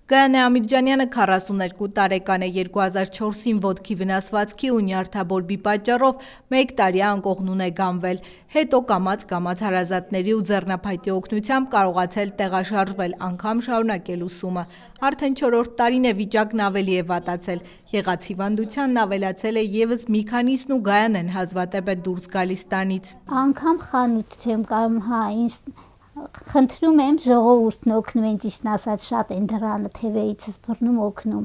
Գայանե Ամիրջանյանը 42 տարեկան է, 2004-ին ոտքի վնասվածքի ու նյարդաբորբի պատճառով 1 տարի անկողնուն է գանվել, հետո կամաց հարազատների ու ձեռնափայտի օգնությամբ կարողացել տեղաշարժվել, անգամ շարունակել ուսումը, արդեն 4-րդ տարին է վիճակն ավելի է վատացել, եղած հիվանդությանն ավելացել է ևս մի քանիսն ու Գայանեն հազվադեպ է դուրս գալիս տանից։ Անգամ խանութ չեմ կարում, խնդրում եմ ժողովուրդն օգնում են, ճիշտն ասած շատ են դռանը թևերիցս բռնում օգնում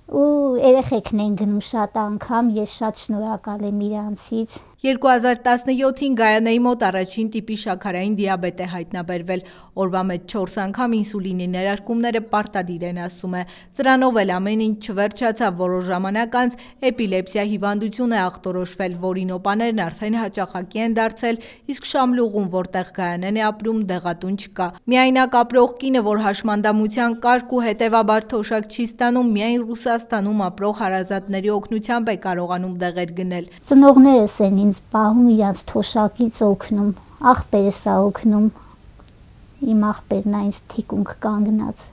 ու երեխեքն են գնում շատ անգամ, ես շատ շնորհակալ եմ իրանցից։ 2017-ին Գայանեի մոտ առաջին տիպի շաքարային դիաբետ է հայտնաբերվել, օրվա մեջ 4 անգամ ինսուլինի ներարկումները պարտադիր են, ասում է, սրանով էլ ամեն ինչ չվերջացավ, որոշ ժամանակ անց էպիլեպսիա հիվանդություն է ախտորոշվել, որին օպաներն արդեն հաճախակի են դարձել, իսկ Շամլուղում, որտեղ Գայանեն է ապրում, դեղատուն չկա։ Միայնակ ապրող կինը, որ հաշմանդամության կարգ ու հետևաբար թոշակ չի ստանում, միայն Ռուսաստանում ապրող հարազատների օգնությամբ է կարողանում դեղեր գնել։ Ծնողներս են ինձ պահում, իրանց թոշակից օգնում, աղբերս է օգնում, իմ աղբերն է ինձ թիկունք կանգնած,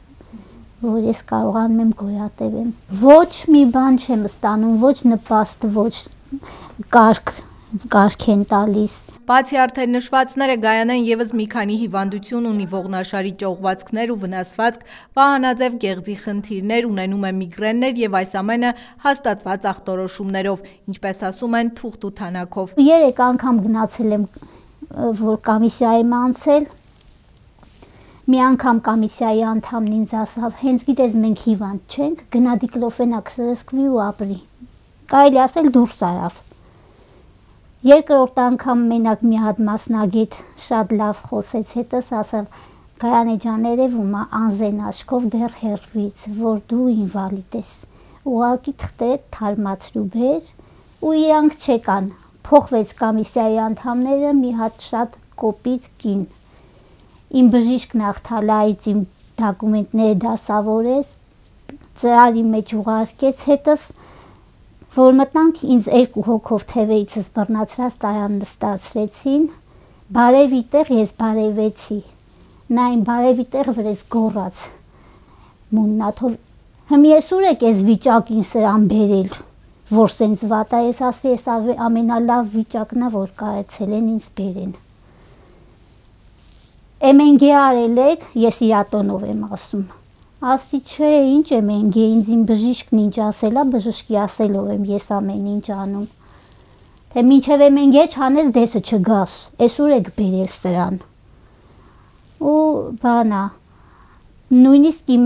որ ես կարողանում եմ գոյատևեմ։ Ոչ մի բան չեմ ստանում, ոչ նպաստ, ոչ կարգ են տալիս։ Բացի արդեն նշվածները, Գայանեն ևս մի քանի հիվանդություն ունի, ողնաշարի ճողվածքներ ու վնասվածք, վահանաձև գեղձի խնդիրներ, ունենում է միգրեններ եւ այս ամենը հաստատված ախտորոշումներով, ինչպես ասում են, թուղթ ու թանակով։ 3 անգամ գնացել եմ, որ կոմիսիա եմ անցել։ Մի անգամ կոմիսիայի անդամն ինձ ասավ, հենց գիտես մենք հիվանդ չենք, գնա դիկլոֆենակ սրսկվի ու ապրի։ Կարելի ասել դուրս արավ։ Երկրորդ անգամ մենակ մի հատ մասնագետ շատ լավ խոսեց հետս, ասավ Գայանե ջան, երևում է անզեն աչքով դեռ հեռվից, որ դու ինվալիդ ես, ուղղակի թղթերը թարմացրու բեր ու իրանք չեկան, փոխվեց կոմիսիայի անդամները, մի հատ շատ կոպիտ կին, իմ բժիշկն աղթալայից իմ դոկումենտները դասավորեց, ծրարի մեջ ուղարկեց հետս, որ մտանք ինձ 2 հոգով թևերիցս բռնացրած տարան նստացրեցին, բարևի տեղ ես բարևեցի, նա իմ բարևի տեղ վրես գոռաց, մուննաթով, հմ ես ուր եք ես վիճակին սրան բերել, որ սենց վատ է, ես ասի ես ամենալավ վիճակն է, որ կարեցել են ինձ բերեն։ MNG արել եք, ես իրատոնով եմ ասում։ Ասի չէ, ինչ MNG, ինձ իմ բժիշկն ինչ ասել է, բժշկի ասելով եմ ես ամեն ինչ անում։ Թե մինչև MNG չանես դեսը չգաս, ես ուր եք բերել սրան։ Ու բանա, նույնիսկ իմ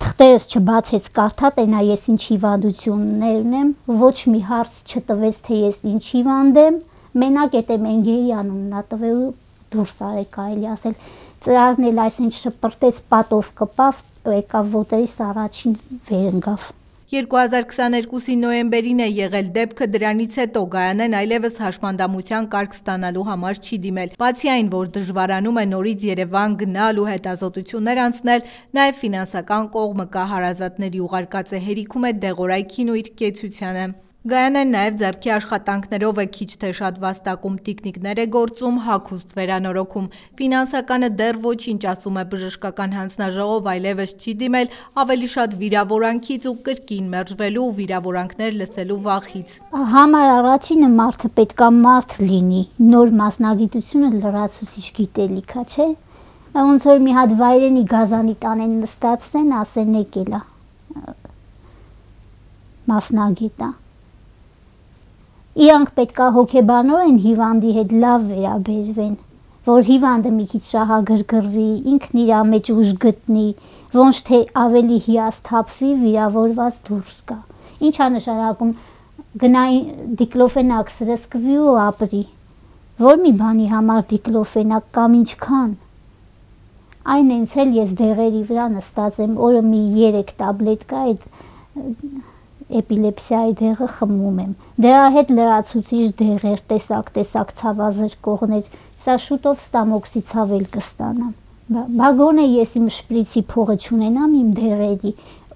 թղթերս չբացեց կարդա, տենա ես ինչ հիվանդություններ ունեմ, ոչ մի հարց չտվեց, թե ես ինչ հիվանդ եմ, մենակ էդ MNG-ի անունն ա տվել ու դուրս արեք կարելի ասել, ծրարն էլ այսինչ շպրտեց, պատով կպավ, եկավ ոտերիս առաջին վերընկավ։ 2022-ի նոյեմբերին է եղել դեպքը, դրանից հետո Գայանեն այլևս հաշմանդամության կարգ ստանալու համար չի դիմել, բացի այն, որ դժվարանում է նորից Երևան գնալ ու հետազոտություններ անցնել, նաև ֆինանսական կողմը կա, հարազատների ուղարկած է հերիքում է դեղորայքին ու իր կեցությանը։ Գայանեն նաև ձեռքի աշխատանքներով է քիչ թե շատ վաստակում, տիկնիկներ է գործում, հագուստ վերանորոգում, ֆինանսականը դեռ ոչինչ, ասում է բժշկական հանձնաժողով, այլևս չի դիմել, ավելի շատ վիրավորանքից ու կրկին մերժվելու ու վիրավորանքներ լսելու վախից։ Համար առաջինը մարդը պետքա մարդ լինի, նոր մասնագիտությունը լրացուցիչ գիտելիք է, չէ՞։ Ոնց որ մի հատ վայրենի գազանի տանեն նստացնեն, ասեն եկել է մասնագետը։ Իրանք պետքա հոգեբանորեն հիվանդի հետ լավ վերաբերվեն, որ հիվանդը մի քիչ շահագրգռվի, ինքն իր մեջ ուժ գտնի, ոչ թե ավելի հիասթափվի, վիրավորված դուրս գա։ Ինչ է նշանակում գնա դիկլոֆենակ սրսկվի ու ապրի։ Որ մի բանի համար դիկլոֆենակ կամ ինչքան։ Այն հենց էլ ես դեղերի վրա նստած եմ, օրը մի 3 տաբլետկա այդ էպիլեպսիայի դեղը խմում եմ, դրա հետ լրացուցիչ դեղեր, տեսակ ցավազրկողներ, սա շուտով ստամոքսի ցավ էլ կստանամ, բագոն է ես իմ շպրիցի փողը չունենամ իմ դեղերի,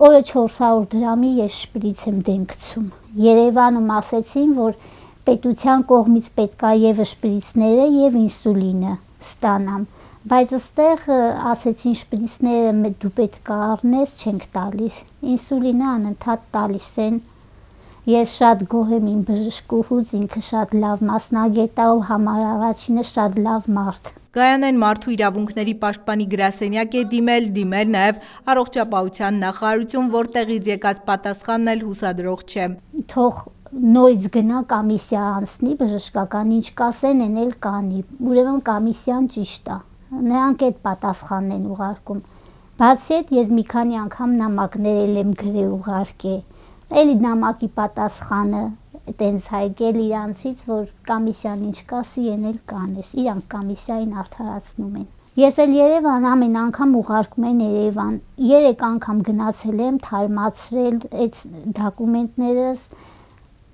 օրը 400 դրամի ես շպրից եմ դեն գցում, Երևանում ասեցին, որ պետության կողմից պետքա եւ շպրիցները եւ ինսուլինը ստանամ, Բայց այստեղ ասեցին շպրիցները դու պետք է առնես, չենք տալիս։ Ինսուլինը անընդհատ տալիս են։ Ես շատ գոհ եմ իմ բժշկուհուց, ինքը շատ լավ մասնագետ է ու համար առաջինը շատ լավ մարդ։ Գայանեն մարդու իրավունքների պաշտպանի գրասենյակ է դիմել նաև առողջապահության նախարարություն, որտեղից եկած պատասխանն էլ հուսադրող չէ։ Թող նորից գնա կոմիսիա անցնի, բժշկական ինչ կասեն, են էլ կանի։ Ուրեմն կոմիսիան ճիշտ է։ Նրանք այդ պատասխանն են ուղարկում։ Բացի այդ, ես մի քանի անգամ նամակներ եմ գրել ուղարկել։ Էլի նամակի պատասխանը տենց հայկել իրանցից, որ կոմիսիան ինչ կասի, են էլ կանես, իրանք կոմիսիային արդարացնում են։ Ես էլ Երևան ամեն անգամ ուղարկում են Երևան, 3 անգամ գնացել եմ, թարմացրել այդ դոկումենտներս,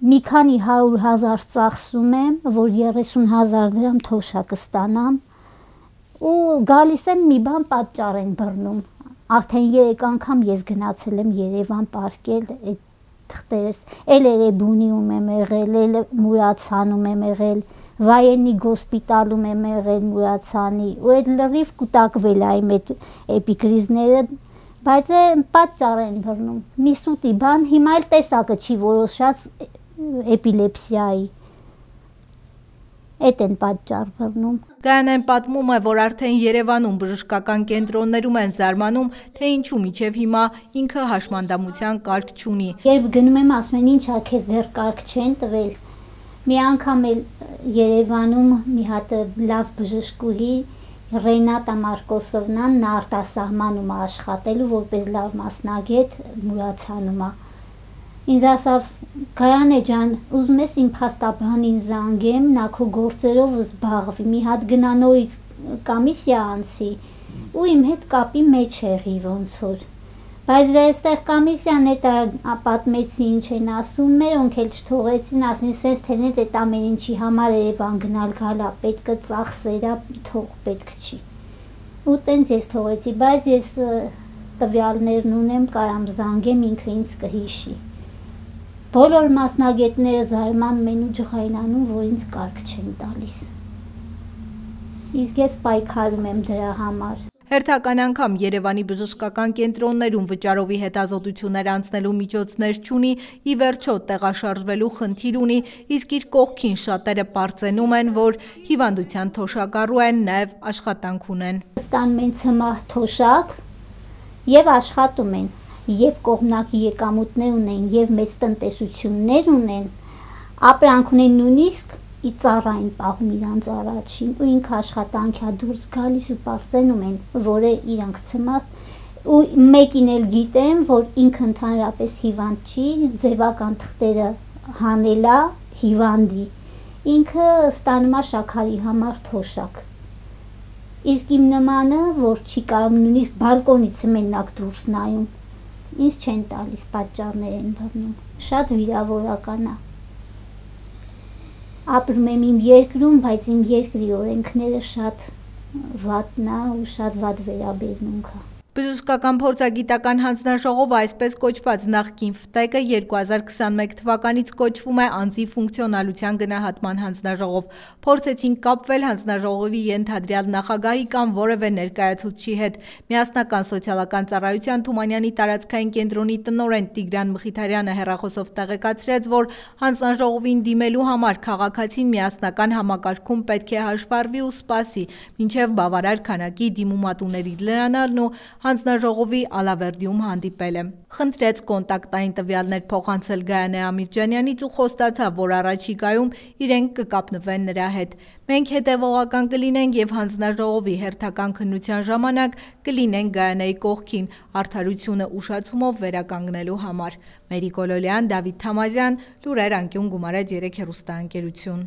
մի քանի 100,000 ծախսում եմ, որ 30,000 դրամ թոշակ ստանամ, ու գալիս եմ մի բան պատճառ են բռնում։ Արդեն 3 անգամ ես գնացել եմ Երևան պարկել այդ թղթերս, էլ Էրեբունիում եմ եղել, էլ Մուրացանում եմ եղել, Վայենի գոսպիտալում եմ եղել Մուրացանի, ու այդ լրիվ կուտակվել է իմ այդ էպիկրիզները, բայց պատճառ են բռնում։ Մի սուտի բան, հիմա էլ տեսակը չի որոշած էպիլեպսիայի։ Այդ են պատճառ բռնում։ Գայանեն պատմում է, որ արդեն Երևանում բժշկական կենտրոններում են զարմանում, թե ինչու մինչև հիմա ինքը հաշմանդամության կարգ չունի։ Երբ գնում եմ, ասում են, ինչա քեզ դեռ կարգ չեն տվել։ Մի անգամ էլ Երևանում մի հատ լավ բժշկուհի Ռենատա Մարկոսովնան նա արտասահմանում է աշխատելու որպես լավ մասնագետ Մուրացանում է։ Ինձ ասավ, Գայանե ջան, ուզում ես իմ փաստաբանին զանգեմ, նա քո գործերով զբաղվի, մի հատ գնա նորից կոմիսիա անցի, ու իմ հետ կապի մեջ եղի ոնց որ։ Բայց դե այստեղ կոմիսիան էտա պատմեցի ինչ են ասում, մերոնք էլ չթողեցին, ասին սենց թենեց այդ ամեն ինչի համար Երևան գնալ գալա, պետք է ծախսերա, թող պետք չի։ Ու տենց ես թողեցի, բայց ես տվյալներն ունեմ, կարամ զանգեմ, ինքը ինձ կհիշի։ Բոլոր մասնագետները զարմանում են ու ջղայնանում, որ ինձ կարգ չեն տալիս։ Իսկ ես պայքարում եմ դրա համար։ Հերթական անգամ Երևանի բժշկական կենտրոններում վճարովի հետազոտություններ անցնելու միջոցներ չունի, ի վերջո տեղաշարժվելու խնդիր ունի, իսկ իր կողքին շատերը պարծենում են, որ հիվանդության թոշակառու են, նաև աշխատանք ունեն։ Ստանում են ցմահ թոշակ եւ աշխատում են, եւ կողմնակի եկամուտներ ունեն, եւ մեծ տնտեսություններ ունեն, ապրանք ունեն նույնիսկ ի ծառային պահում իրանց առաջին, ու ինքը աշխատանքյա դուրս գալիս ու պարծենում են, որը իրանք ցմահ, ու մեկին էլ գիտեմ, որ ինքը ընդհանրապես հիվանդ չի, ձևական թղթերը հանելա հիվանդի, ինքը ստանում է շաքարի համար թոշակ։ Իսկ իմ նմանը, որ չի կարող նույնիսկ բալկոնից մենակ դուրս նայում, ինձ չեն տալիս, պատճառներ են բռնում, շատ վիրավորական է։ Ապրում եմ իմ երկրում, բայց իմ երկրի օրենքները շատ վատն է ու շատ վատ վերաբերմունք է։ Բժշկական փորձագիտական հանձնաժողովը, այսպես կոչված նախկին ՖՏԵԿ-ը 2021 թվականից կոչվում է անձի ֆունկցիոնալության գնահատման հանձնաժողով։ Փորձեցին կապվել հանձնաժողովի ենթադրյալ նախագահի կամ որևէ ներկայացուցչի հետ։ Միասնական սոցիալական ծառայության Թումանյանի տարածքային կենտրոնի տնօրեն Տիգրան Մխիթարյանը հեռախոսով տեղեկացրեց, որ հանձնաժողովին դիմելու համար քաղաքացին միասնական համակարգում պետք է հաշվառվի ու սպասի, մինչև բավարար քանակի դիմումատուների լրանալն ու հանձնաժողովի Ալավերդիում հանդիպել է։ Խնդրեց կոնտակտային տվյալներ փոխանցել Գայանե Ամիրջանյանից ու խոստացավ, որ առաջիկայում իրենք կկապնվեն նրա հետ։ Մենք հետևողական կլինենք եւ հանձնաժողովի հերթական քննության ժամանակ կլինենք Գայանեի կողքին արդարությունը ուշացումով վերականգնելու համար։ Մերի Կոլոլյան, Դավիթ Թամազյան, Լուրեր անկյուն, Գումարած 3 հեռուստաընկերություն։